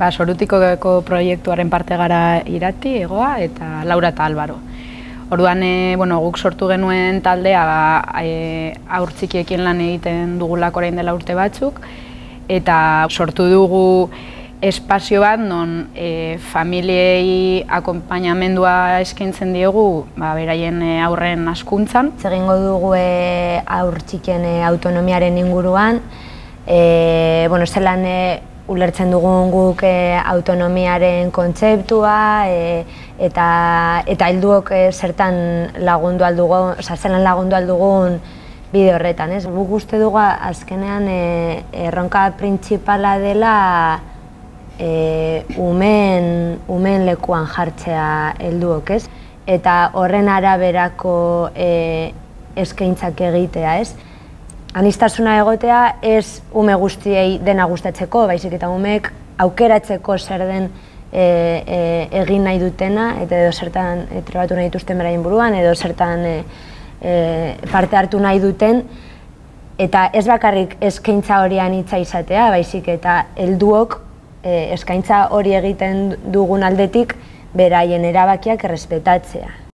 Sorutikoko proiektuaren parte gara Irati, Egoa eta Laura eta Albaro. Orduan, guk sortu genuen taldea haur txikiekin lan egiten dugulako orain dela urte batzuk, eta sortu dugu espazio bat non familiei akonpainamendua eskaintzen diegu beraien aurren hazkuntzan. Egingo dugu haur txikien autonomiaren inguruan, zelan ulertzen dugun guk autonomiaren kontzeptua eta helduok zertan lagundu aldugun, zelan lagundu aldugun bide horretan. Guk uste dugu azkenean erronka printzipala dela umeen lekuan jartzea helduok, eta horren araberako eskaintzak egitea. Aniztasuna egotea ez ume guztiei dena gustatzeko, baizik eta umeek aukeratzeko zer den egin nahi dutena, eta edo zertan trebatu nahi dituzten beraien buruan, edo zertan parte hartu nahi duten, eta ez bakarrik eskaintza hori anitza izatea, baizik eta helduok eskaintza hori egiten dugun aldetik beraien erabakiak errespetatzea.